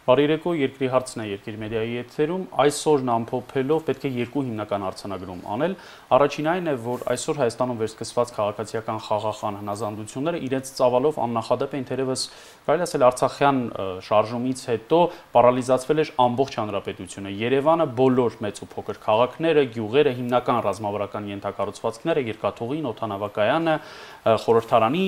Բարերեկո, երկրի հարցն է Երկիր մեդիայի եթերում, այսօրն ամփոփելով պետք է երկու հիմնական արձանագրում անել։ Առաջին այն է, որ այսօր Հայաստանում վերսկսված քաղաքացիական խաղաղան հնազանդությունները իրենց ծավալով աննախադեպ են, թերևս կարելի ասել Արցախյան շարժումից հետո պարալիզացվել էր ամբողջ հանրապետությունը։ Երևանը բոլոր մեծ ու փոքր քաղաքները, գյուղերը, հիմնական ռազմավարական ենթակառուցվածքները, երկաթուղին, օդանավակայանը, խորհրդարանի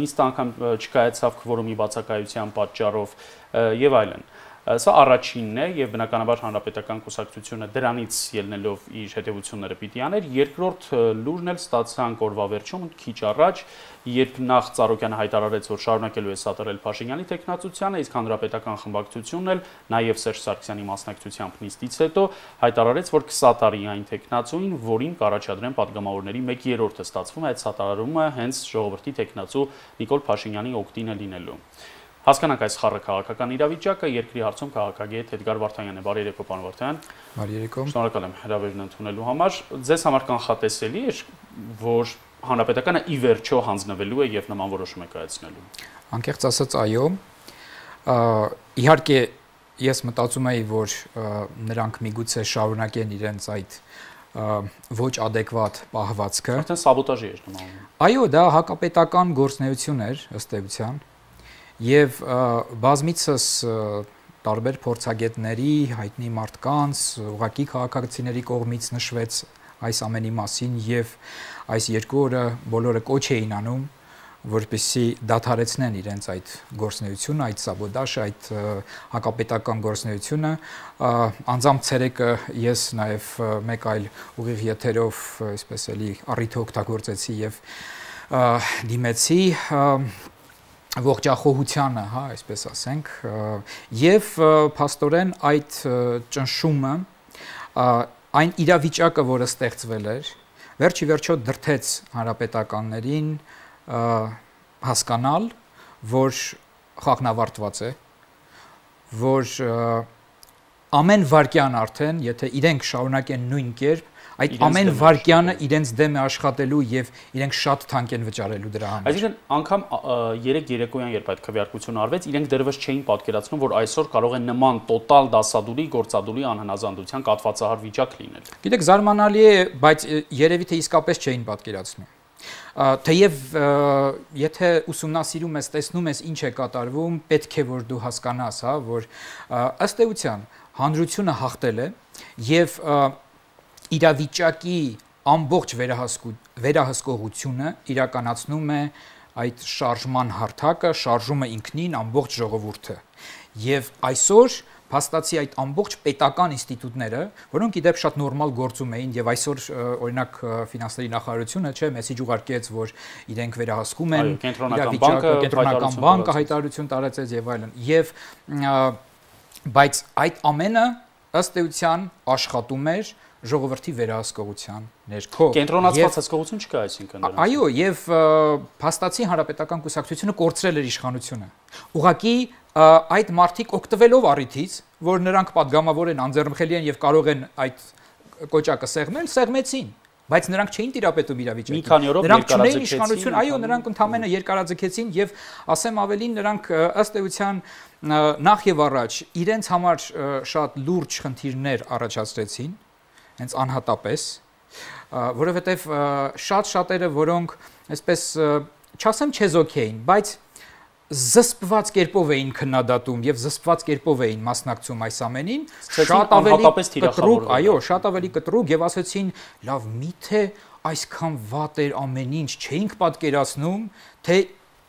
նիստ անգամ չկայացավ քվորումի բացակայության պատճառով եւ այլն։ Սա առաջինն է եւ բնականաբար հանրապետական կուսակցությունը դրանից ելնելով իր հետևությունները պիտի աներ։ Երկրորդ լուրն էլ ստացանք օրվա վերջում քիչ առաջ, երբ նախ Ծառուկյանը հայտարարեց, որ շարունակելու է սատարել Փաշինյանի տեխնացությանը, իսկ հանրապետական խմբակցությունն էլ նաեւ Սերժ Սարգսյանի մասնակցությամբ նիստից հետո հայտարարեց, որ կսատարի այն տեխնացուին, որին կառաջադրեն падգամավորների 1/3-ը, ստացվում է այդ սատարումը հենց ժողովրդի տեխնացու Նիկոլ Փաշինյանի օգտին է լինելու։ Հասկանանք այս խառը քաղաքական իրավիճակը, երկրի հարցում քաղաքագետ Էդգար Վարդանյանն է։ Բարերեկո, պարոն Վարդանյան։ Բարերեկո։ Շնորհակալ եմ հրավերն ընդունելու համար։ Ձեզ համար կանխատեսելի է, որ հանրապետականը ի վերջո հանձնվելու է եւ նման որոշում է կայացնելու։ Անկեղծ ասած, այո։ Իհարկե, ես մտածում եի, որ նրանք միգուցե շարունակեն իրենց այդ ոչ adekvat պահվածքը։ Արդեն սաբոտաժի էր նման։ Այո, դա հակապետական գործունեություն էր ըստ էության։ Եվ բազմիցս տարբեր փորձագետների, հայտնի մարդկանց, ուղղակի քաղաքացիների կողմից նշվեց այս ամենի մասին եւ այս երկու օրը բոլորը կոչ էին անում, որպեսզի դադարեցնեն իրենց այդ գործունեությունը, այդ սաբոտաժը, այդ հակապետական գործունեությունը։ Անձամբ ցերեկը ես նաեւ մեկ այլ ուղիղ եթերով, այսպես էլի առիթ օգտագործեցի եւ դիմեցի ողջախոհությանը, հա, այսպես ասենք, եւ փաստորեն այդ ճնշումը, այն իրավիճակը, որը ստեղծվել էր, վերջի վերջո դրթեց հանրապետականներին հասկանալ, որ խաղն ավարտված է, որ ամեն վարքյան արդեն, եթե իրենք շարունակեն նույն կերպ, այդ ամեն վարքյանը իրենց դեմ է աշխատելու եւ իրենք շատ թանկ են վճարելու դրա համար։ Այսինքն անգամ երեք երեկոյան, երբ այդ քվեարկությունը արվեց, իրենք դեռևս չէին պատկերացնում, որ այսօր կարող է նման տոտալ դասադուլի, գործադուլի անհնազանդության կատվածահար վիճակ լինել։ Գիտեք, զարմանալի է, բայց երևի թե իսկապես չէին պատկերացնում։ Թեև եթե ուսումնասիրում ես, տեսնում ես ինչ է կատարվում, պետք է որ դու հասկանաս, հա, որ ըստ էության հանրությունը հաղթել է եւ իրավիճակի ամբողջ վերահսկողությունը իրականացնում է այդ շարժման հարթակը, շարժումը ինքնին ամբողջ ժողովուրդը։ Եվ այսօր փաստացի այդ ամբողջ պետական ինստիտուտները, որոնք իդեպ շատ նորմալ գործում էին եւ այսօր օրինակ ֆինանսների նախարարությունը, չէ, մեսիջ ուղարկեց, որ իրենք վերահսկում են իրավիճակը, կենտրոնական բանկը հայտարարություն տարածեց եւ այլն։ Եվ բայց այդ ամենը ըստ էության աշխատում էր ժողովրդի վերահսկողության ներքո։ Կենտրոնացված հսկողություն չկա, այսինքն դրանից։ Այո, եւ փաստացի հանրապետական կուսակցությունը կորցրել էր իշխանությունը։ Ուղղակի այդ մարդիկ օգտվելով առիթից, որ նրանք падգամավոր են, անձեռնխելի են եւ կարող են այդ կոճակը սեղմել, սեղմեցին, բայց նրանք չէին տիրապետում իրավիճակին։ Մի քանի օրով նրանք չունեին իշխանություն, այո, նրանք ընդամենը երկարաձգեցին եւ ասեմ ավելին, նրանք ըստ էության նախ եւ առաջ իրենց համար շատ լուրջ խնդիրներ առաջացրեցին, հենց անհատապես, որովհետև շատ-շատերը, որոնք այսպես չասեմ չեզոք էին, բայց զսպված կերպով էին քննադատում եւ զսպված կերպով էին մասնակցում այս ամենին, շատ ավելի կտրուկ, այո, շատ ավելի կտրուկ եւ ասեցին, լավ, միթե այսքան վատ էր ամեն ինչ, չէինք պատկերացնում, թե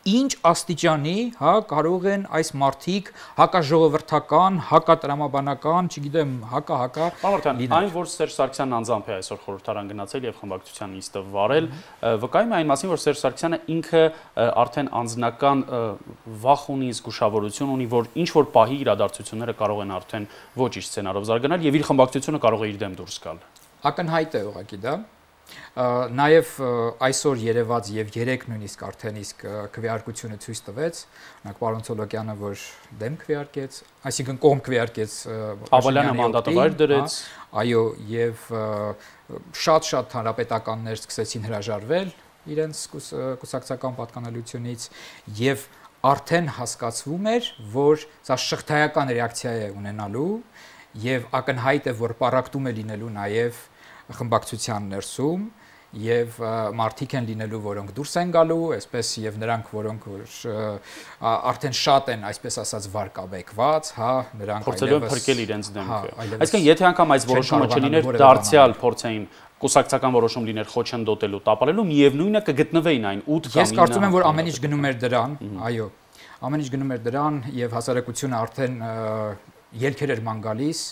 ինչ աստիճանի, հա, կարող են այս մարդիկ հակաժողովրդական, հակատրամաբանական, չգիտեմ, հակա լինել։ Այն, որ Սերժ Սարգսյանն անձամբ է այսօր խորհրդարան գնացել եւ խմբակցության նիստը վարել, վկայում է այն մասին, որ Սերժ Սարգսյանը ինքը արդեն անձնական վախ ունի, զգուշավորություն ունի, որ ինչ որ պահի իրադարձությունները կարող են արդեն ոչ իր սցենարով զարգանալ եւ իր խմբակցությունը կարող է իր դեմ դուրս գալ։ Ակնհայտ է ուղղակի դա։ Նաև այսօր երևաց եւ երեք նույնիսկ արդեն իսկ քվեարկությունը ցույց տվեց, օրինակ պարոն Ցոլոկյանը, որ դեմ քվեարկեց, այսինքն կողմ քվեարկեց Ավալյանը մանդատը վայր դրեց, այո, եւ շատ հանրապետականներ սկսեցին հրաժարվել իրենց կուսակցական պատկանելությունից եւ արդեն հասկացվում էր, որ սա շղթայական ռեակցիա է ունենալու եւ ակնհայտ է, որ պարակտում է լինելու նաեւ խմբակցության ներսում եւ մարդիկ են լինելու, որոնք դուրս են գալու, այսպես եւ նրանք, որոնք արդեն շատ են, այսպես ասած, վարկաբեկված, հա, նրանք փորձելու են փրկել իրենց դեմքը։ Այսինքն, եթե անգամ այս որոշումը չլիներ, դարձյալ փորձեին կուսակցական որոշում լիներ խոչընդոտելու, տապալելու, միևնույնը կգտնվեին այն 8 կամ 9։ Ես կարծում եմ, որ ամեն ինչ գնում էր դրան, այո, ամեն ինչ գնում էր դրան եւ հասարակությունը արդեն ելքեր էր ման գալիս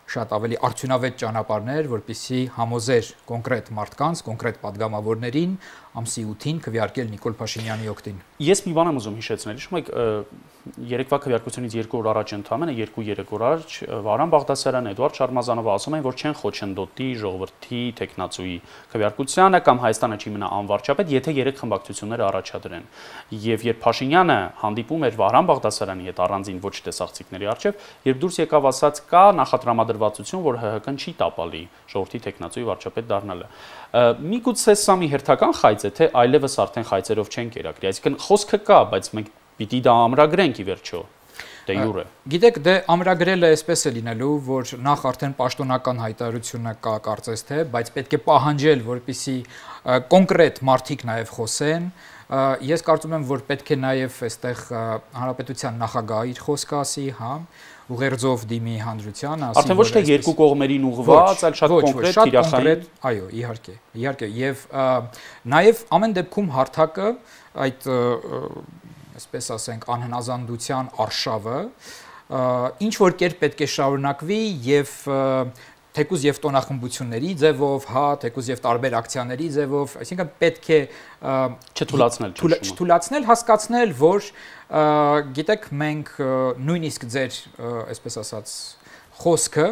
շատ ավելի արդյունավետ ճանապարհներ, որպեսզի համոզեր կոնկրետ մարդկանց, կոնկրետ падգամավորներին ամսի 8-ին քվեարկել Նիկոլ Փաշինյանի օգտին։ Ես մի բան եմ ուզում հիշեցնել, հիշում եք, երեկվա քվեարկությունից 2 օր առաջ ընդամենը 2-3 օր առաջ Վարան Բաղդասարյանը, Էդուարդ Շարմազանովը ասում են, որ չեն խոչընդոտի ժողովրդի տեխնացուի քվեարկությանը կամ Հայաստանը չի մնա անվարչապետ, եթե 3 խմբակցությունները առաջադրեն։ Եվ երբ Փաշինյանը հանդիպում էր Վարան Բաղդասարյանի հետ առանձին ոչ տեսախցիկների առջև, երբ դուրս եկավ ասաց կա նախատրամադրվածություն, որ ՀՀԿ-ն չի տապալի ժողովրդի տեխնացուի վարչապետ դառնալը։ Միգուցե սա մի հերթական խայծ է, թե այլևս արդեն խայծերով չեն կերակրի, այսինքն խոսքը կա, բայց մենք պիտի դա ամրագրենք ի վերջո։ Դե յուրե։ Գիտեք, դե ամրագրելը այսպես է լինելու, որ նախ արդեն պաշտոնական հայտարարությունը կա կարծես թե, բայց պետք է պահանջել, որպեսզի կոնկրետ մարդիկ նաև խոսեն։ Ես կարծում եմ, որ պետք է նաև այստեղ հանրապետության նախագահը իր խոսքը ասի, հա, ուղերձով դիմի հանրությանը, ասի, արդեն ոչ թե երկու կողմերին ուղղված, այլ շատ կոնկրետ թիրախային։ Այո, իհարկե, եւ նաև ամեն դեպքում հարթակը այդ այսպես ասենք անհնազանդության արշավը ինչ որ կերպ պետք է շարունակվի եւ թեկուզ եւ տոնախմբությունների ձևով, հա, թեկուզ եւ տարբեր ակցիաների ձևով, այսինքն պետք է չթուլացնել, հասկացնել, որ գիտեք, մենք նույնիսկ ձեր, այսպես ասած, խոսքը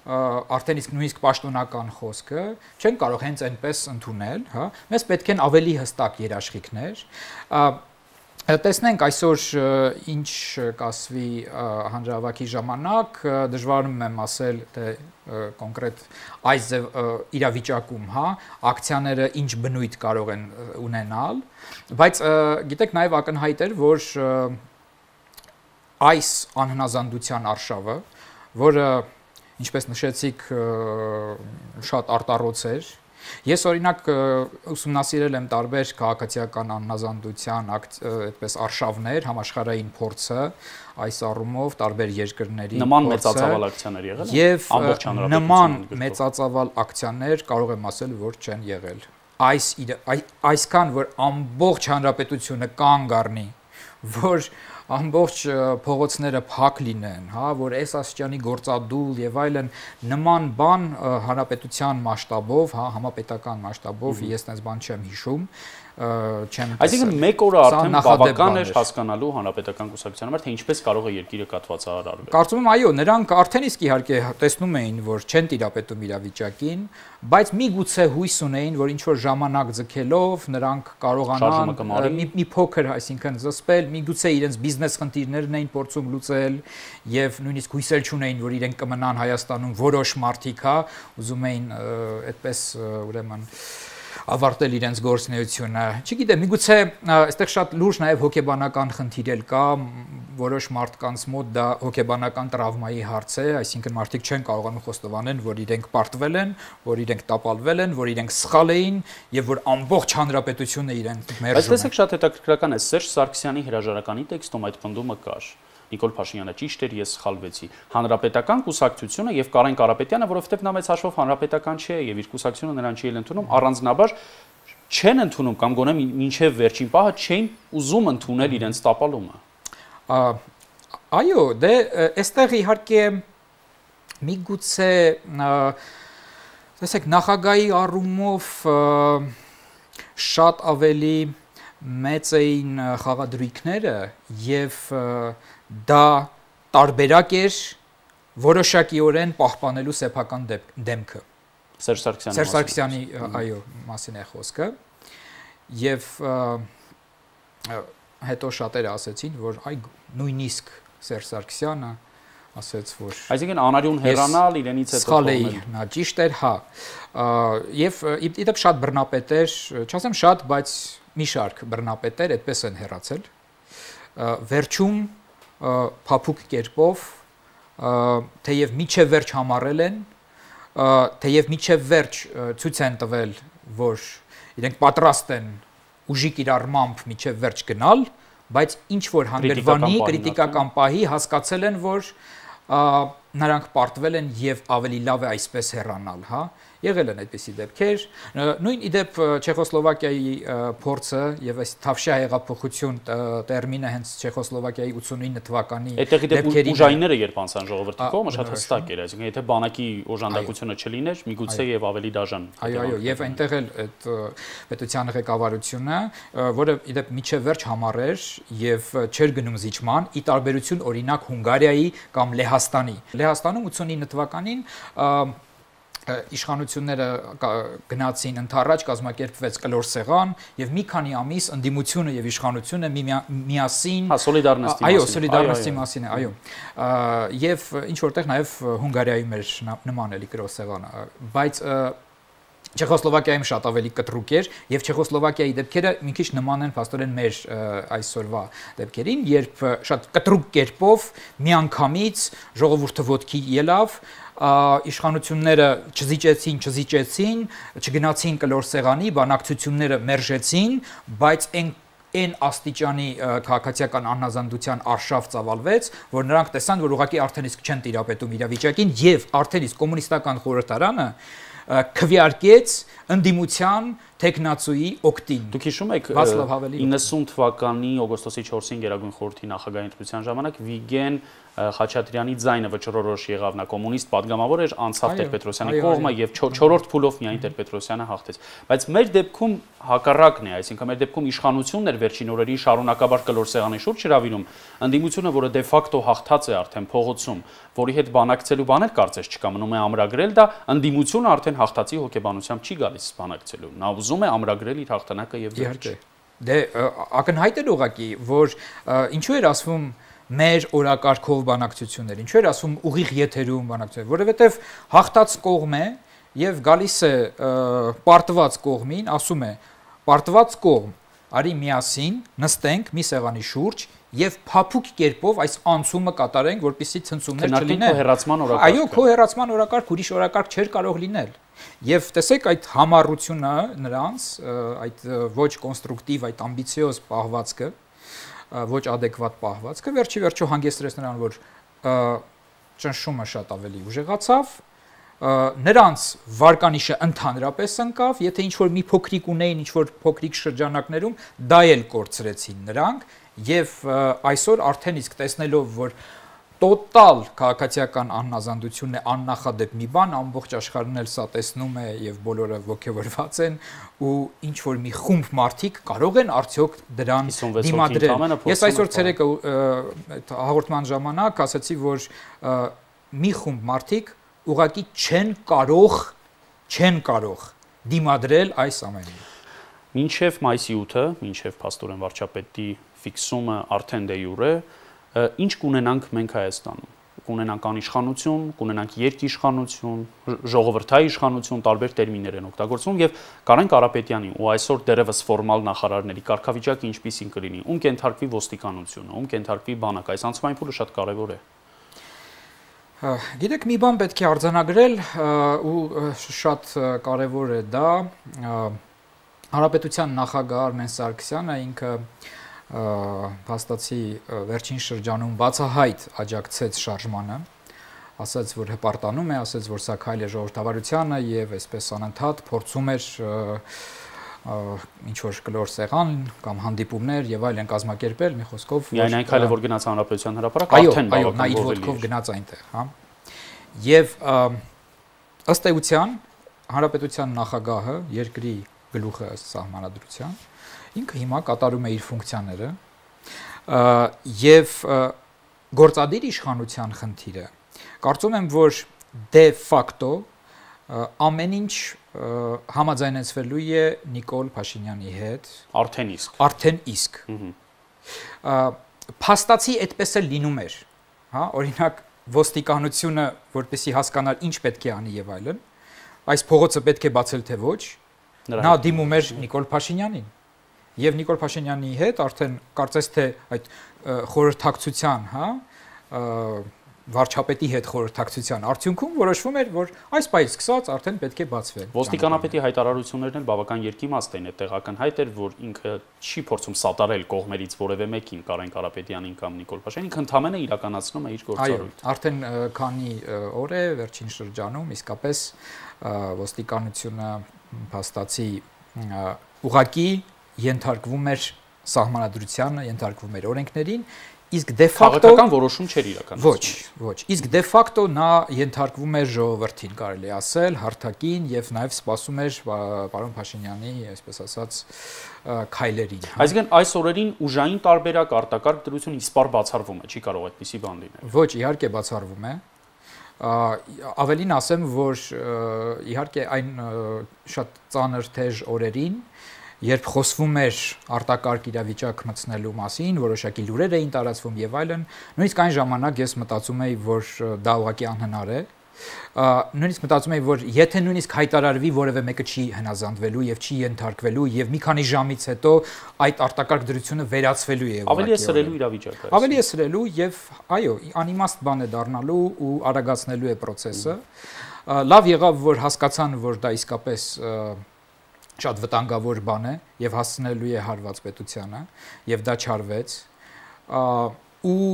արդեն իսկ նույնիսկ պաշտոնական խոսքը չեն կարող հենց այնպես ընդունել, հա, մեզ պետք են ավելի հստակ երաշխիքներ։ Տեսնենք այսօր ինչ կասվի հանրահավաքի ժամանակ, դժվարում եմ ասել, թե կոնկրետ այս իրավիճակում, հա, ակցիաները ինչ բնույթ կարող են ունենալ, բայց գիտեք նաև ակնհայտ էր, որ այս անհնազանդության արշավը, որը ինչպես նշեցիք շատ արտառոց էր, ես օրինակ ուսումնասիրել եմ տարբեր քաղաքացիական անհնազանդության այդպես արշավներ, համաշխարհային փորձը այս առումով տարբեր երկրների նման մեծածավալ ակցիաներ եղել են եւ նման մեծածավալ ակցիաներ կարող եմ ասել, որ չեն եղել։ Այսքան որ ամբողջ հանրապետությունը կանգ առնի, որ ամբողջ փողոցները փակ լինեն, հա, որ այս աստիճանի գործադուլ եւ այլն նման բան հանրապետության մասշտաբով, հա, համապետական մասշտաբով ես այնպես բան չեմ հիշում, չեմ տեսել։ Այսինքն մեկ օրը արդեն բավական էր հասկանալու հանրապետական կուսակցության համար, թե ինչպես կարող է երկիրը կաթվածահարարվել։ Կարծում եմ, այո, նրանք արդեն իսկ իհարկե տեսնում էին, որ չեն տիրապետում իրավիճակին, բայց միգուցե հույս ունեին, որ ինչ որ ժամանակ ձգելով նրանք կարողանան մի փոքր, այսինքն զսպել, միգուցե իրենց բիզնես խնդիրներն էին փորձում լուծել եւ նույնիսկ հույսեր չունեին, որ իրենք կմնան Հայաստանում որոշ մարդիկ, հա, ուզում էին այդպես ուրեմն ավարտել իրենց գործունեությունը։ Չգիտեմ, միգուցե այստեղ շատ լուրջ նաև հոգեբանական խնդիր էլ կա, որոշ մարդկանց մոտ դա հոգեբանական տրավմայի հարց է, այսինքն մարդիկ չեն կարողանում խոստովանել, որ իրենք պարտվել են, որ իրենք տապալվել են, որ իրենք սխալ էին եւ որ ամբողջ հանրապետությունը իրենք մերժում է։ Բայց տեսեք, շատ հետաքրքրական է, Սերժ Սարգսյանի հրաժարականի տեքստում այդ պնդումը կար։ Նիկոլ Փաշինյանը ճիշտ էր, ես սխալվեցի։ Հանրապետական կուսակցությունը եւ Կարեն Կարապետյանը, որովհետեւ նա մեծ հաշվով հանրապետական չէ եւ իր կուսակցությունը նրան չի ընդունում, առանձնաբար չեն ընդունում կամ գոնե մինչեւ վերջին պահը չէին ուզում ընդունել իրենց տապալումը։ Այո, դե այստեղ իհարկե միգուցե տեսեք նախագահի առումով շատ ավելի մեծ էին խաղադրույքները եւ դա տարբերակ էր որոշակիորեն պահպանելու սեփական դեմքը Սերժ Սարգսյանի այո մասին է խոսքը եւ հետո շատերը ասեցին որ այ նույնիսկ Սերժ Սարգսյանը ասեց որ այսինքն անարյուն հեռանալ իրենից հետո սխալ էի նա ճիշտ էր հա եւ իդեպ շատ բռնապետեր չասեմ շատ բայց մի շարք բռնապետեր այդպես են հեռացել վերջում փափուկ կերպով թեև միջև վերջ համառել են, թեև միջև վերջ ցույց են տվել, որ իրենք պատրաստ են ուժի կիրառմամբ միջև վերջ գնալ, բայց ինչ որ հանգրվանի կրիտիկական պահի հասկացել են, որ նրանք պարտվել են եւ ավելի լավ է այսպես հեռանալ, հա, եղել են այդպիսի դեպքեր, նույն իդեպ Չեխոսլովակիայի փորձը եւ այս Թավշյա հեղափոխություն տերմինը հենց Չեխոսլովակիայի 89 թվականի դեպքերի ուժայինները երբ անցան ժողովրդի կողմը շատ հստակ էր, այսինքն եթե բանակի օժանդակությունը չլիներ, միգուցե եւ ավելի դաժան։ Այո, եւ այնտեղ էլ այդ պետության ղեկավարությունը, որը իդեպ միջև վերջ համառեր եւ չէր գնում զիջման, ի տարբերություն օրինակ Հունգարիայի կամ Լեհաստանի։ Լեհաստանում 89 թվականին իշխանությունները գնացին ընդառաջ, կազմակերպվեց կլոր սեղան եւ մի քանի ամիս ընդդիմությունը եւ իշխանությունը միասին սոլիդարնոստի մասին է, այո, եւ ինչ որտեղ նաեւ Հունգարիայում էր նման էլի կլոր սեղանը, բայց Չեխոսլովակիայում շատ ավելի կտրուկ էր եւ Չեխոսլովակիայի դեպքերը մի քիչ նման են փաստորեն մեր այսօրվա դեպքերին, երբ շատ կտրուկ կերպով միանգամից ժողովուրդը ոտքի ելավ, իշխանությունները չզիջեցին, չգնացին կլոր սեղանի, բանակցությունները մերժեցին, բայց այն աստիճանի քաղաքացիական անհնազանդության արշավ ծավալվեց, որ նրանք տեսան, որ ուղղակի արդեն իսկ չեն տիրապետում իրավիճակին եւ արդեն իսկ կոմունիստական խորհրդարանը քվեարկեց ընդդիմության տեխնացուի օկտին։ Դուք հիշում եք 90 թվականի օգոստոսի 4-ին Գերագույն խորհրդի նախագահի ընտրության ժամանակ Վիգեն Խաչատրյանի ձայնը վճռորոշ եղավ, նա կոմունիստ падգամավոր էր, անցավ Տեր-Պետրոսյանի կողմը եւ 4-րդ փուլով միայն Տեր-Պետրոսյանը հաղթեց։ Բայց մեր դեպքում հակառակն է, այսինքն մեր դեպքում իշխանությունն էր վերջին օրերին շարունակաբար կլոր սեղանի շուրջ հրավիրում, ընդդիմությունը, որը դե ֆակտո հաղթած է արդեն փողոցում, որի հետ բանակցելու բաներ կարծես չկա, մնում է ամրագրել դա, ընդդիմությունը արդեն հաղթածի հոգեբանությամբ չի գալիս բանակցելու։ Նա ուզում է ամրագրել իր հաղթանակը եւ վերջ։ Դե ակնհայտ է ուղղակի, որ ինչու էր ասվում մեր օրակարգով բանակցություններ, ինչու էր ասում ուղիղ եթերում բանակցություններ, որովհետև հաղթած կողմ է եւ գալիս է պարտված կողմին, ասում է պարտված կողմ, արի միասին նստենք մի սեղանի շուրջ եւ փափուկ կերպով այս անցումը կատարենք, որպեսզի ցնցումներ չլինեն։ Այո, քո հեռացման օրակարգ ուրիշ օրակարգ չէր կարող լինել։ Եվ տեսեք այդ համառությունը նրանց, այդ ոչ կոնստրուկտիվ, այդ ամբիցիոզ պահվածքը, ոչ adekvat պահվածքը վերջի վերջո հանգեցրեց նրան, որ ճնշումը շատ ավելի ուժեղացավ, նրանց վարկանիշը ընդհանրապես ընկավ, եթե ինչ-որ մի փոքրիկ ունեին, ինչ-որ փոքրիկ շրջանակներում, դա էլ կորցրեցին նրանք, եւ այսօր արդեն իսկ տեսնելով, որ տոտալ քաղաքացիական անհնազանդությունն է աննախադեպ մի բան, ամբողջ աշխարհն էլ սա տեսնում է եւ բոլորը ողջավորված են ու ինչ որ մի խումբ մարդիկ կարող են արդյոք դրան դիմադրել։ Ես այսօր ցերեկը հաղորդման ժամանակ ասացի, որ մի խումբ մարդիկ ուղղակի չեն կարող դիմադրել այս ամենին։ Մինչև մայիսի 8-ը, մինչև Փաստորեն վարչապետի ֆիքսումը արդեն դե յուրե ինչ կունենանք մենք Հայաստանում, կունենանք անիշխանություն, կունենանք երկիշխանություն, ժողովրդային իշխանություն, տարբեր տերմիններ են օգտագործվում եւ Կարեն Կարապետյանի ու այսօր դերևս ֆորմալ նախարարների կարգավիճակը ինչպիսին կլինի, ում կենթարկվի ոստիկանությունը, ում կենթարկվի բանակը, այս անցումային փուլը շատ կարեւոր է։ Գիտեք, մի բան պետք է արձանագրել ու շատ կարեւոր է դա, Հանրապետության նախագահ Արմեն Սարգսյանը ինքը փաստացի վերջին շրջանում բացահայտ աջակցեց շարժմանը, ասաց, որ հպարտանում է, ասաց, որ սա քայլ է ժողովրդավարությանը եւ այսպես անընդհատ փորձում էր ինչ որ կլոր սեղան կամ հանդիպումներ եւ այլն կազմակերպել, մի խոսքով միայն այն քայլը, որ գնաց Հանրապետության հրապարակ, արդեն բավական ողջով գնաց այնտեղ, հա։ Եվ ըստ էության Հանրապետության նախագահը, երկրի գլուխը ըստ սահմանադրության, ինքը հիմա կատարում է իր ֆունկցիաները եւ գործադիր իշխանության խնդիրը կարծում եմ, որ դե ֆակտո ամեն ինչ համաձայնեցվելու է Նիկոլ Փաշինյանի հետ արդեն իսկ փաստացի այդպես էլ լինում էր, հա, օրինակ ոստիկանությունը, որպեսզի հասկանար ինչ պետք է անի եւ այլն, այս փողոցը պետք է բացել թե ոչ, նա դիմում էր Նիկոլ Փաշինյանին եւ Նիկոլ Փաշինյանի հետ արդեն կարծես թե այդ խորհրդակցության, հա, վարչապետի հետ խորհրդակցության արդյունքում որոշվում էր, որ այս պահից սկսած արդեն պետք է բացվեն։ Ոստիկանապետի հայտարարություններն էլ բավական երկիմաստ են, այդտեղական հայտ էր, որ ինքը չի փորձում սատարել կողմերից որևէ մեկին, Կարեն Կարապետյանին կամ Նիկոլ Փաշինյանին, ինքը ընդամենը իրականացնում է իր գործառույթը։ Այո, արդեն քանի օր է վերջին շրջանում իսկապես ոստիկանությունը փաստացի ուղղակի ենթարկվում էր սահմանադրությանը, ենթարկվում էր օրենքներին, իսկ դե ֆակտո քաղաքական որոշում չէր իրականացնում։ Ոչ, իսկ դե ֆակտո նա ենթարկվում էր ժողովրդին, կարելի ասել, հարթակին եւ նաեւ սպասում էր պարոն Փաշինյանի, այսպես ասած, քայլերին։ Այսինքն այս օրերին ուժային տարբերակ արտակարգ դրություն իսպար բացառվում է, չի կարող այդպիսի բան լինել։ Ոչ, իհարկե բացառվում է։ Ավելին ասեմ, որ իհարկե այն շատ ծանր թեժ օրերին, երբ խոսվում էր արտակարգ իրավիճակ մտցնելու մասին, որոշակի լուրեր էին տարածվում եւ այլն, նույնիսկ այն ժամանակ ես մտածում էի, որ դա ուղղակի անհնար է։ Նույնիսկ մտածում էի, որ եթե նույնիսկ հայտարարվի, որևէ մեկը չի հնազանդվելու եւ չի ենթարկվելու եւ մի քանի ժամից հետո այդ արտակարգ դրությունը վերացվելու է։ Ավելի է սրելու իրավիճակը։ Ավելի է սրելու եւ այո, անիմաստ բան է դառնալու ու արագացնելու է process-ը։ Լավ եղավ, որ հասկացան, որ դա իսկապես շատ վտանգավոր բան է եւ հասցնելու է հարված պետությանը եւ դա չարվեց ու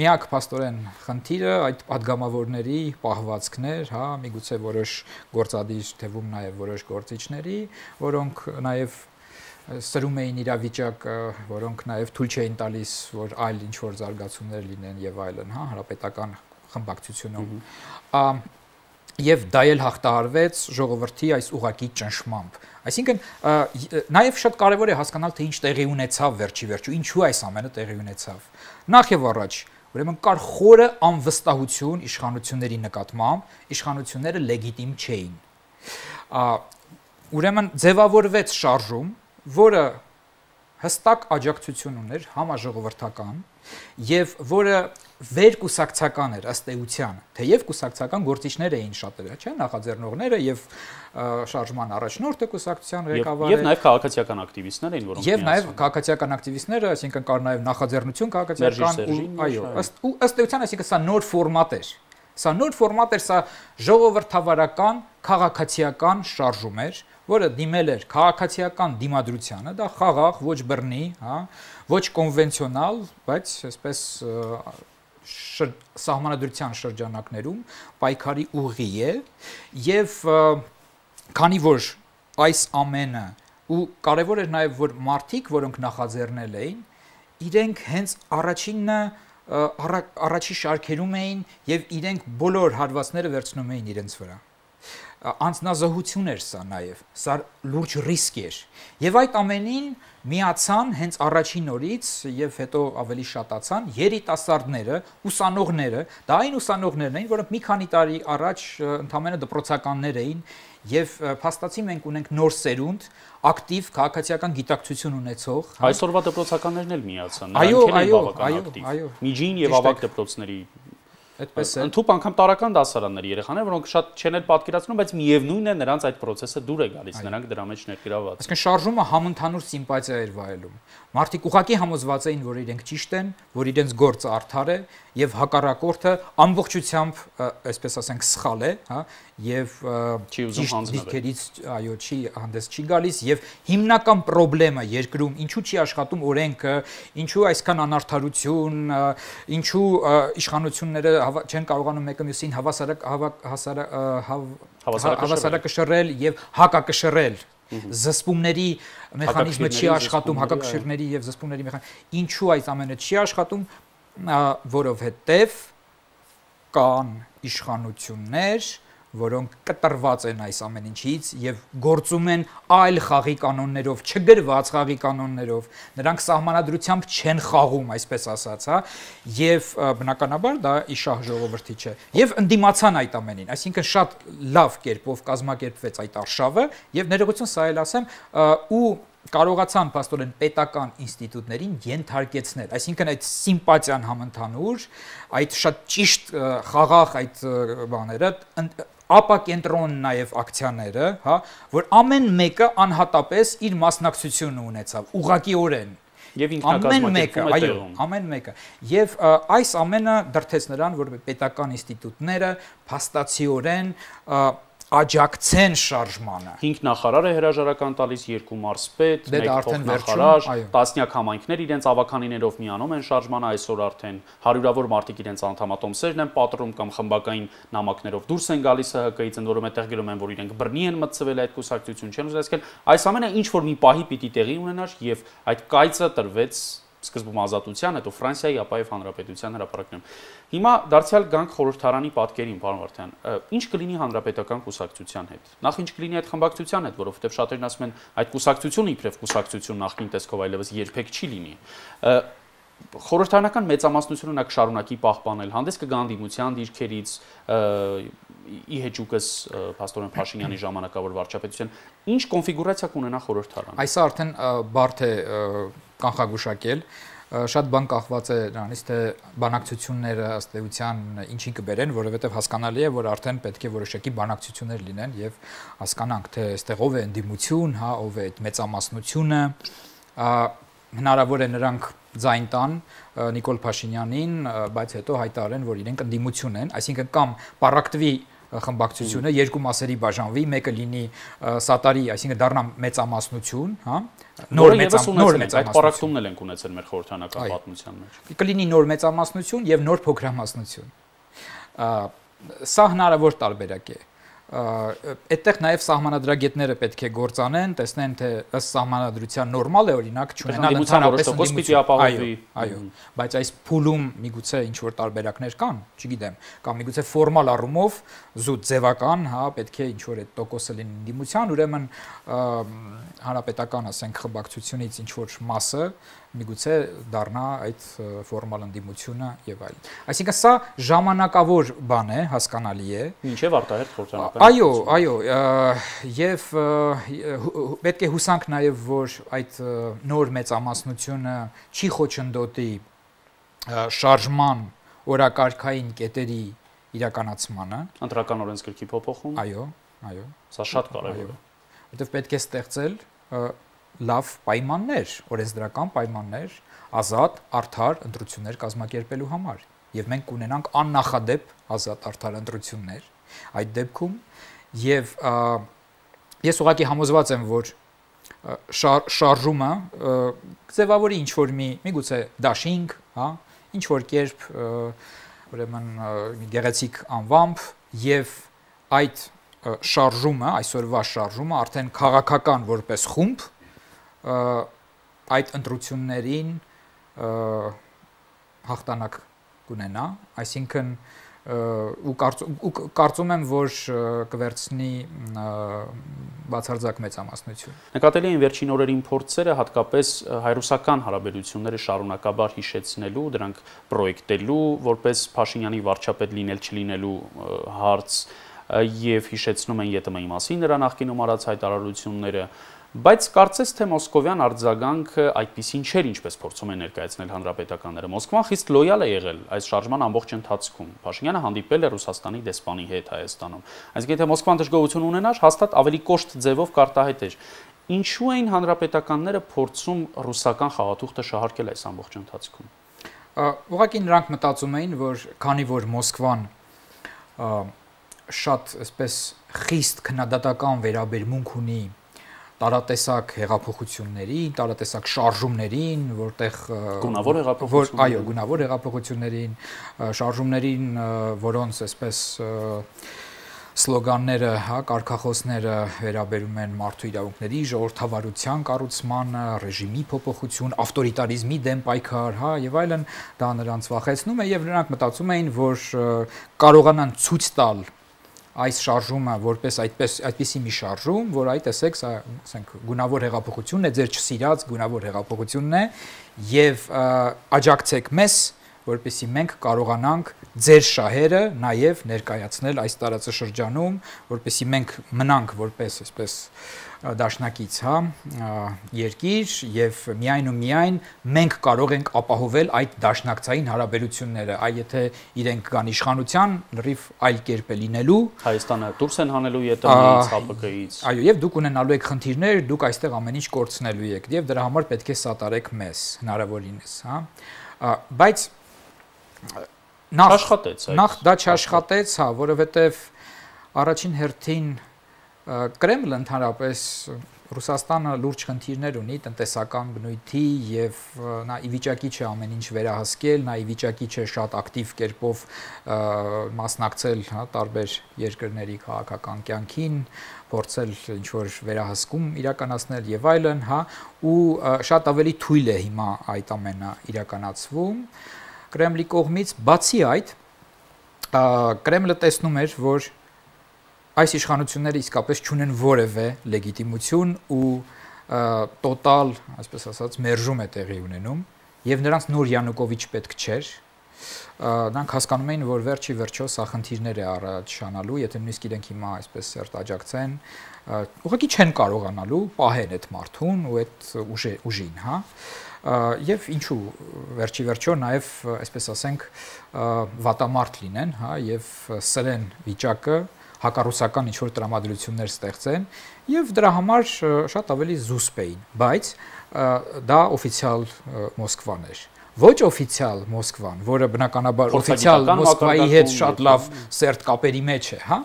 միակ փաստորեն խնդիրը այդ падգամավորների պահվածքն էր, հա, միգուցե որոշ գործադիր թվում նաեւ որոշ գործիչների, որոնք նաեւ սրում էին իրավիճակը, որոնք նաեւ թույլ չէին տալիս, որ այլ ինչ որ զարգացումներ լինեն եւ այլն, հա, հանրապետական խմբակցությունում Եվ դա էլ հաղթահարվեց ժողովրդի այս ուղակի ճնշմամբ։ Այսինքն նաև շատ կարևոր է հասկանալ, թե ինչ տեղի ունեցավ վերջի վերջու, ինչու այս ամենը տեղի ունեցավ։ Նախ եւ առաջ, ուրեմն կար խորը անվստահություն իշխանությունների նկատմամբ, իշխանությունները լեգիտիմ չէին։ Ուրեմն ձևավորվեց շարժում, որը հստակ աջակցություն ուներ համաժողովրդական եւ որը վերկուսակցական էր ըստ էության, թեև կուսակցական գործիչներ էին շատերը, չէ՞, նախաձեռնողները եւ շարժման առաջնորդը կուսակցության ղեկավարը եւ նաեւ քաղաքացիական ակտիվիստներ էին, որոնք եւ նաեւ քաղաքացիական ակտիվիստները, այսինքն կար նաեւ նախաձեռնություն քաղաքացիական ու այո, ըստ էության, այսինքն սա նոր ֆորմատ էր։ Սա նոր ֆորմատ էր, սա ժողովրդավարական քաղաքացիական շարժում էր, որը դիմել էր քաղաքացիական դիմադրությանը, դա խաղաղ, ոչ բռնի, հա, ոչ կոնվենցիոնալ, բայց այսպես սահմանադրության շրջանակներում պայքարի ուղի է եւ քանի որ այս ամենը ու կարեւոր էր նաեւ որ մարդիկ, որոնք նախաձեռնել էին, իրենք հենց առաջի շարքերում էին եւ իրենք բոլոր հարվածները վերցնում էին իրենց վրա։ Անձնազոհություն էր սա նաև, սա լուրջ ռիսկ էր։ Եվ այդ ամենին միացան հենց առաջին օրից եւ հետո ավելի շատացան երիտասարդները, ուսանողները, դա այն ուսանողներն էին, որոնք մի քանի տարի առաջ ընդամենը դպրոցականներ էին եւ փաստացի մենք ունենք նոր սերունդ, ակտիվ քաղաքացիական գիտակցություն ունեցող։ Այսօրվա դպրոցականներն էլ միացան, նրանք են բավական ակտիվ։ Միջին եւ ավագ դպրոցների Այդպես է։ Ընդհանուր անգամ տարական դասարանների երեխաներ, որոնք շատ չեն էլ պատկերացնում, բայց միևնույնն է նրանց այդ process-ը դուր է գալիս, նրանք դրա մեջ ներգրաված։ Այսինքն շարժումը համընդհանուր սիմպաթիա էր վայելում։ Մարդիկ ուղղակի համոզված էին, որ իրենք ճիշտ են, որ իրենց գործը արդար է եւ հակառակորդը ամբողջությամբ, այսպես ասենք, սխալ է, հա, եւ դիրքերից այո չի հանդես չի գալիս եւ հիմնական խնդրեմը երկրում ինչու չի աշխատում օրենքը, ինչու այսքան անարդարություն, ինչու իշխանությունները չեն կարողանում մեկը մյուսին հավասարակշռել եւ հակակշռել զսպումների մեխանիզմը չի աշխատում, հակակշիռների եւ զսպումների մեխանիզմը ինչու այս ամենը չի աշխատում, որովհետեւ կան իշխանություններ, որոնք կտրված են այս ամեն ինչից եւ գործում են այլ խաղի կանոններով, չգրված խաղի կանոններով, նրանք սահմանադրությամբ չեն խաղում, այսպես ասած, հա, եւ բնականաբար դա իշահ ժողովրդի չէ։ Եվ ընդդիմացան այդ ամենին, այսինքն շատ լավ կերպով կազմակերպվեց այդ արշավը եւ ներողություն սա էլ ասեմ, ու կարողացան փաստորեն պետական ինստիտուտներին ենթարկեցնել, այսինքն այդ սիմպաթիան համընդհանուր, այդ շատ ճիշտ խաղաղ այդ բաները ապակենտրոն նաև ակցիաները, հա, որ ամեն մեկը անհատապես իր մասնակցությունը ունեցավ, ուղղակիորեն։ Եվ ինքնակազմակերպվում է տեղում։ Ամեն մեկը։ Եվ այս ամենը դրդեց նրան, որ պետական ինստիտուտները փաստացիորեն աջակցեն շարժմանը։ 5 նախարար է հրաժարական տալիս, 2 մարզպետ, 1 փոխնախարար, տասնյակ համայնքներ իրենց ավականիներով միանում են շարժմանը, այսօր արդեն հարյուրավոր մարդիկ իրենց անդամատոմսերն են պատռում կամ խմբակային նամակներով դուրս են գալիս ՀՀԿ-ից, ընդ որում այդտեղ գրում են, որ իրենք բռնի են մտցվել այդ կուսակցություն չեն ուզում, այսինքն այս ամենը ինչ որ մի պահի պիտի տեղի ունենար եւ այդ կայծը տրվեց սկզբում ազատության, հետո Ֆրանսիայի, ապա եւ Հանրապետության հրապարակներում։ Հիմա դարձյալ գանք խորհրդարանի պատկերին, պարոն Վարդյան, ինչ կլինի հանրապետական կուսակցության հետ։ Նախ ինչ կլինի այդ խմբակցության հետ, որովհետեւ շատերն ասում են, այդ կուսակցությունը իբրև կուսակցություն նախկին տեսքով այլևս երբեք չի լինի։ Խորհրդարանական մեծամասնությունը նա կշարունակի պահպանել, հանդես կգա անդիմության դիրքերից, ի հեճուկս Փաստորեն Փաշինյանի ժամանակավոր վարչապետության, ինչ կոնֆիգուրացիա կունենա խորհրդարանը։ Այս արդեն բարդ է կանխագուշակել, շատ բան կախված է նրանից, թե բանակցությունները ըստ էության ինչին կբերեն, որովհետև հասկանալի է, որ արդեն պետք է որոշակի բանակցություններ լինեն եւ հասկանանք, թե այստեղ ով է ընդդիմություն, հա, ով է այդ մեծամասնությունը, հնարավոր է նրանք ձայն տան Նիկոլ Փաշինյանին, բայց հետո հայտարարեն, որ իրենք ընդդիմություն են, այսինքն կամ պարակտվի խմբակցությունը երկու մասերի բաժանվի, մեկը լինի սատարի, այսինքն դառնա մեծամասնություն, հա, նոր մեծամասնություն, այդ պարակտումն էլ ենք ունեցել մեր խորհրդանական պատմության մեջ։ Կլինի նոր մեծամասնություն եւ նոր փոքրամասնություն։ Սա հնարավոր տարբերակ է։ Այդտեղ նաև սահմանադրագետները պետք է գործանեն, տեսնեն, թե ըստ սահմանադրության նորմալ է, օրինակ, չունենալ ընդհանրապես ընդդիմություն, այո, բայց այս փուլում միգուցե ինչ որ տարբերակներ կան, չգիտեմ, կամ միգուցե ֆորմալ առումով զուտ ձևական, հա, պետք է ինչ որ այդ տոկոսը լինի ընդդիմության, ուրեմն հանրապետական, ասենք, խմբակցությունից ինչ որ մասը միգուցե դառնա այդ ֆորմալ ընդդիմությունը եւ այլն։ Այսինքն սա ժամանակավոր բան է, հասկանալի է։ Ինչեւ արտահերթ խորհրդարանական։ Այո, եւ պետք է հուսանք նաեւ, որ այդ նոր մեծամասնությունը չի խոչընդոտի շարժման օրակարգային կետերի իրականացմանը։ Ընտրական օրենսգրքի փոփոխում։ Այո։ Սա շատ կարևոր է։ Որտեւ պետք է ստեղծել լավ պայմաններ, օրենսդրական պայմաններ, ազատ, արդար ընտրություններ կազմակերպելու համար, եւ մենք կունենանք աննախադեպ ազատ արդար ընտրություններ այդ դեպքում, եւ ես ուղղակի համոզված եմ, որ շարժումը ձևավորի ինչ որ միգուցե դաշինք, հա, ինչ որ կերպ ուրեմն գեղեցիկ անվամբ, եւ այդ շարժումը, այսօրվա շարժումը արդեն քաղաքական որպես խումբ այդ ընտրություններին հաղթանակ կունենա, այսինքն ու կարծում եմ, որ կվերցնի բացարձակ մեծամասնություն։ Նկատելի են վերջին օրերին փորձերը հատկապես հայ-ռուսական հարաբերությունները շարունակաբար հիշեցնելու, դրանք պրոյեկտելու, որպես Փաշինյանի վարչապետ լինել չլինելու հարց, եւ հիշեցնում են ԵՏՄ-ի մասին նրա նախկինում արած հայտարարությունները, բայց կարծես թե մոսկովյան արձագանքը այդպիսին չէր, ինչպես փորձում են ներկայացնել հանրապետականները։ Մոսկվան խիստ լոյալ է եղել այս շարժման ամբողջ ընթացքում։ Փաշինյանը հանդիպել է Ռուսաստանի դեսպանի հետ Հայաստանում։ Այսինքն եթե Մոսկվան դժգոհություն ունենար, հաստատ ավելի կոշտ ձևով կարտահայտեր։ Ինչու էին հանրապետականները փորձում ռուսական խաղաթուղթը շահարկել այս ամբողջ ընթացքում։ Ուղղակի նրանք մտածում էին, որ քանի որ Մոսկվան շատ այսպես խիստ քննադատական վերաբերմունք ունի տարատեսակ հեղափոխություններին, տարատեսակ շարժումներին, որտեղ գունավոր հեղափոխություններ, այո, գունավոր հեղափոխություններին, շարժումներին, որոնց այսպես սլոգանները, հա, կարգախոսները վերաբերում են մարդու իրավունքների, ժողովրդավարության կառուցմանը, ռեժիմի փոփոխություն, ավտորիտարիզմի դեմ պայքար, հա, եւ այլն, դա նրանց վախեցնում է եւ նրանք մտածում էին, որ կարողանան ցույց տալ այս շարժումը որպես այդպիսի մի շարժում, որ այ տեսեք, սա ասենք գունավոր հեղափոխությունն է, ձեր չսիրած գունավոր հեղափոխությունն է եւ աջակցեք մեզ, որպեսզի մենք կարողանանք ձեր շահերը նաեւ ներկայացնել այս տարածաշրջանում, որպեսզի մենք մնանք որպես այսպես դաշնակից, հա, երկիր եւ միայն ու միայն մենք կարող ենք ապահովել այդ դաշնակցային հարաբերությունները, այ եթե իրենք կան իշխանության, լրիվ այլ կերպ է լինելու, Հայաստանը դուրս են հանելու ԵՏՄ-ից, ՀԱՊԿ-ից։ Այո, եւ դուք ունենալու եք խնդիրներ, դուք այստեղ ամեն ինչ կորցնելու եք եւ դրա համար պետք է սատարեք մեզ հնարավորինս, հա։ Բայց նախ դա չաշխատեց, հա, որովհետեւ առաջին հերթին Կրեմլը ընդհանրապես Ռուսաստանը լուրջ խնդիրներ ունի տնտեսական բնույթի եւ նա ի վիճակի չէ ամեն ինչ վերահսկել, նա ի վիճակի չէ շատ ակտիվ կերպով մասնակցել, հա, տարբեր երկրների քաղաքական կյանքին, փորձել ինչ որ վերահսկում իրականացնել եւ այլն, հա, ու շատ ավելի թույլ է հիմա այդ ամենը իրականացվում Կրեմլի կողմից, բացի այդ Կրեմլը տեսնում էր, որ այս իշխանությունները իսկապես չունեն որևէ լեգիտիմություն ու տոտալ, այսպես ասած, մերժում է տեղի ունենում եւ նրանց նոր Յանուկովիչ պետք չէր։ Նրանք հասկանում էին, որ վերջի վերջո սա խնդիրներ է առաջանալու, եթե նույնիսկ իրենք հիմա այսպես սերտ աջակցեն, ուղղակի չեն կարողանալու պահեն այդ մարդուն ու այդ ուժին, հա։ Եվ ինչու վերջի վերջո նաև այսպես ասենք վատամարտ լինեն, հա, եւ սրեն վիճակը հակառուսական ինչ-որ տրամադրություններ ստեղծեն եւ դրա համար շատ ավելի զուսպ էին, բայց դա օֆիցիալ Մոսկվան էր։ Ոչ օֆիցիալ Մոսկվան, որը բնականաբար օֆիցիալ Մոսկվայի հետ շատ լավ սերտ կապերի մեջ է, հա,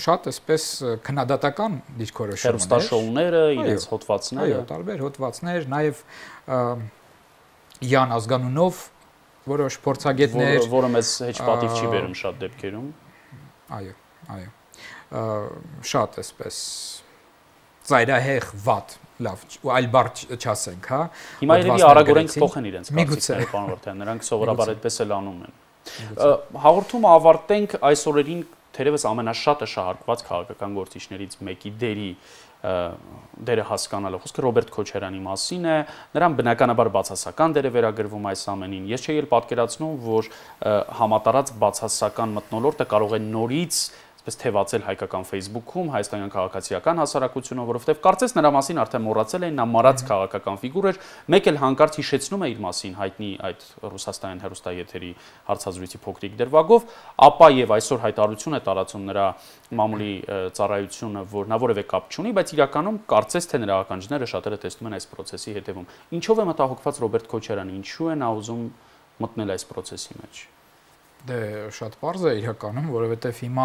շատ այսպես քննադատական դիրքորոշումներ, հեռուստաշոուները, իրենց հոդվածները, այո, տարբեր հոդվածներ, նաև Յան Ազգանունով որոշ փորձագետներ, որը մեզ հեչ պատիվ չի բերում շատ դեպքերում։ Այո, շատ այսպես ծայրահեղ վատ, լավ, ու այլ բառ չասենք, հա։ Հիմա երևի արագորեն կփոխեն իրենց կարծիքները, պարոն Վարդան, նրանք սովորաբար այդպես էլ անում են։ Հաղորդումը ավարտենք այս օրերին թերևս ամենաշատը շահարկված քաղաքական գործիչներից մեկի դերը հասկանալը, խոսքը Ռոբերտ Քոչարյանի մասին է, նրան բնականաբար բացասական դեր է վերագրվում այս ամենին։ Ես չէի էլ պատկերացնում, որ համատարած բացասական մթնոլորտը կարող է նորից այսպես թևածել հայկական Facebook-ում, հայաստանյան քաղաքացիական հասարակությունը, որովհետև կարծես նրա մասին արդեն մոռացել էին, նա մարած քաղաքական ֆիգուր էր, մեկ էլ հանկարծ հիշեցնում է իր մասին հայտնի այդ ռուսաստանյան հեռուստաեթերի հարցազրույցի փոքրիկ դրվագով, ապա եւ այսօր հայտարարություն է տարածում նրա մամուլի ծառայությունը, որ նա որևէ կապ չունի, բայց իրականում կարծես թե նրա ականջները շատերը տեսնում են այս process-ի հետևում։ Ինչով է մտահոգված Ռոբերտ Քոչարյանը, ինչու է նա ուզում մտնել այս process-ի մեջ։ Դե շատ པարզ է իրականում, որովհետև հիմա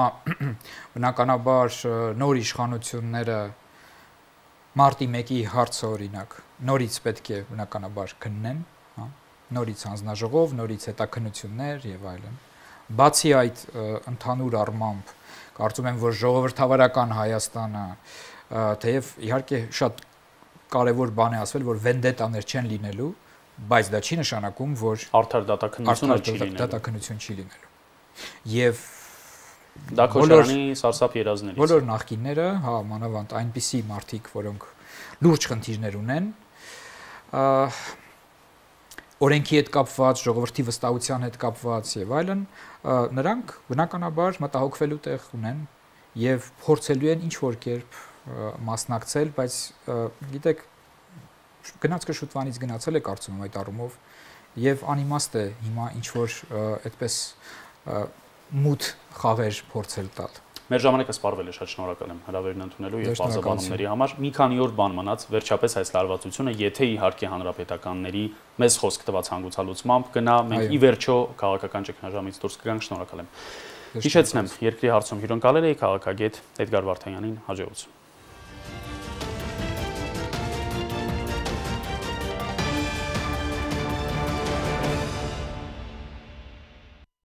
բնականաբար նոր իշխանությունները մարտի 1-ի հարցը օրինակ նորից պետք է բնականաբար քննեն, հա, նորից հանձնաժողով, նորից հետաքննություններ եւ այլն։ Բացի այդ ընդհանուր առմամբ կարծում եմ, որ ժողովրդավարական Հայաստանը թեև իհարկե շատ կարևոր բան է ասվել, որ վենդետաներ չեն լինելու, բայց դա չի նշանակում, որ արդար դատաքննություն չի լինելու։ Եվ դա Քոչարյանի սարսափ երազներից։ Բոլոր նախկինները, հա, մանավանդ այնպիսի մարդիկ, որոնք լուրջ խնդիրներ ունեն, օրենքի հետ կապված, ժողովրդի վստահության հետ կապված եւ այլն, նրանք բնականաբար մտահոգվելու տեղ ունեն եւ փորձելու են ինչ որ կերպ մասնակցել, բայց գիտեք, գնացքը շուտվանից գնացել է կարծում եմ այդ առումով եւ անիմաստ է հիմա ինչ որ այդպես մութ խաղեր փորձել տալ։ Մեր ժամանակը սպառվել է, շատ շնորհակալ եմ հրավերն ընդունելու եւ բազաբանումների համար։ Մի քանի օր բան մնաց, վերջապես այս լարվածությունը, եթե իհարկե հանրապետականների մեզ խոսք տված հանգուցալուծմամբ գնա, մենք ի վերջո քաղաքական ճգնաժամից դուրս կգանք, շնորհակալ եմ։ Հիշեցնեմ, երկրի հարցում հյուրընկալել էի քաղաքագետ Էդգար Վարդանյանին, հաջողություն։